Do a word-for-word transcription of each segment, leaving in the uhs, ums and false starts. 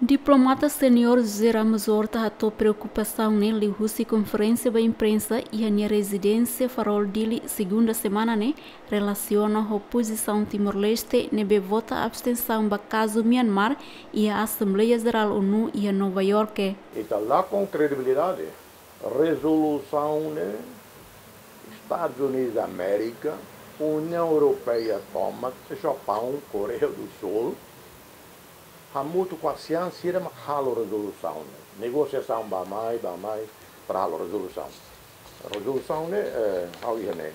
Diplomata seniór José Ramos Horta hato'o preokupasaun ne'e liuhusi konferénsia ba imprensa iha nia rezidénsia Farol, Dili, segunda semana ne'e, relasiona ho pozisaun Timor-Leste ne'ebé vota abstensaun ba kazu Myanmar iha Asembleia Jerál ONU iha Nova Iorke. Ita lakon kredibilidade. Rezolusaun ne'e Estadus Unidus Amérika, Uniaun Europeia tomak, Japaun, Koreia du Sul, hamutuk ho ASEAN sira mak halo rezolusaun ne'e. Negosiasaun bá-mai, bá-mai, para halo rezolusaun. Rezolusaun ne'e, eh, ha'u iha ne'e,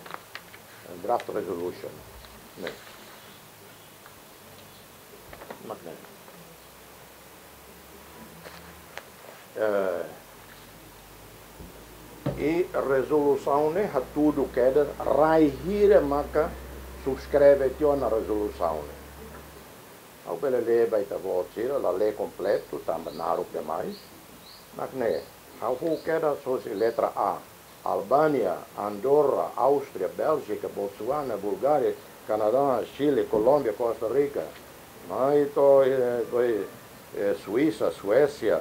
draft resolution ne'e. Mak ne'e. Eh, i rezolusaun ne'e hatudu kedas rai hira maka subskreve tiha ona rezolusaun ne'e. Ha'u bele lee ba ita-boot sira, la lee kompletu, tanba naruk demais. Mak ne'e, ha'u fó kedas hosi letra A. Albánia, Andorra, Áustria, Bélgika, Botsuana, Bulgária, Kanadá, Xile, Kolómbia, Kosta Rika, mai to'o, eh, to'o, eh, Suísa, Suésia,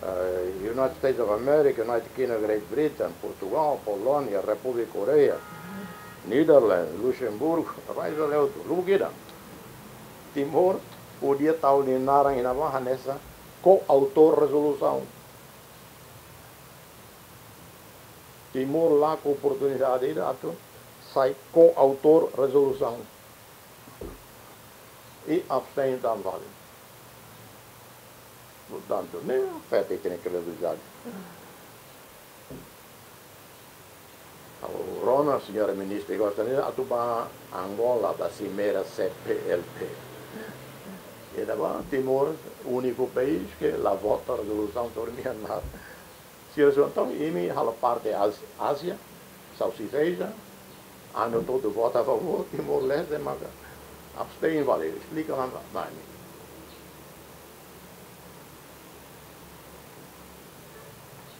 eh, United States of America, United Kingdom, Great Britain, Portugal, Polónia, Repúblika Koreia, Netherlands, Luxemburgo, Israel, lubuk ida. Timor podia tau nia naran iha ne'ebá hanesan koautór rezolusaun. Timor lakon oportunidade ida atu sai koautór rezolusaun. I abstein tan vale. Portantu, ne'e afeta ita-nia kredibilidade. Ha'u rona, señora ministra, gostaria atu bá Angola, bá simeira C P L P. Ida-ne'ebá Timor, úniku país ke la vota rezolusaun sobre Myanmar. Sira só entaun, imi halo parte Ásia, Ásia, salsiveja, anu todo vota a favor, Timor-Leste, maka abstein vale, esplika ona ba, ba imi.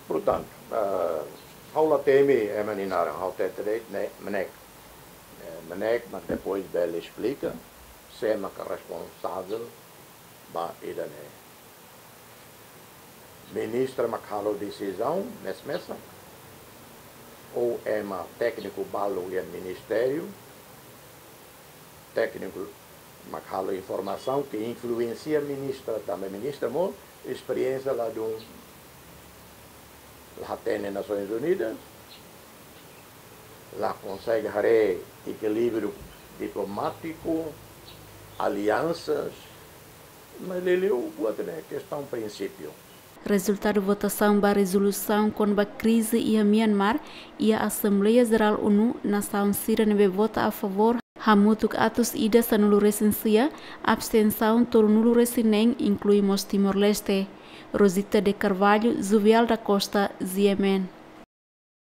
Portantu, eh, ha'u la temi ema nia naran, ha'u hatete de'it ne'e MNEK. Eh, MNEK, mas depois bele esplika, sé maka responsavel ba ida-ne'e. Ministra mak halo desizaun, mes-mesak, ou ema tékniku balu iha ministériu, tékniku mak halo informasaun ke influensia ministra, tanba ministra mós esperiénsia ladún, la hatene Nasoins Unidas, la konsege haree ekilíbriu diplomátiku, aliansas, mas liuliu buat ne'e kestaun prinsípiu. Rezultadu votasaun ba rezolusaun kona-ba krize iha Myanmar iha Asembleia Jerál ONU, nasaun sira ne'ebé vota a favor hamutuk atus ida sanulu-resin-sia, abstensaun tolunulu-resin-neen, inklui mós Timor-Leste. Rosita de Carvalho, Juvial da Costa, G M N.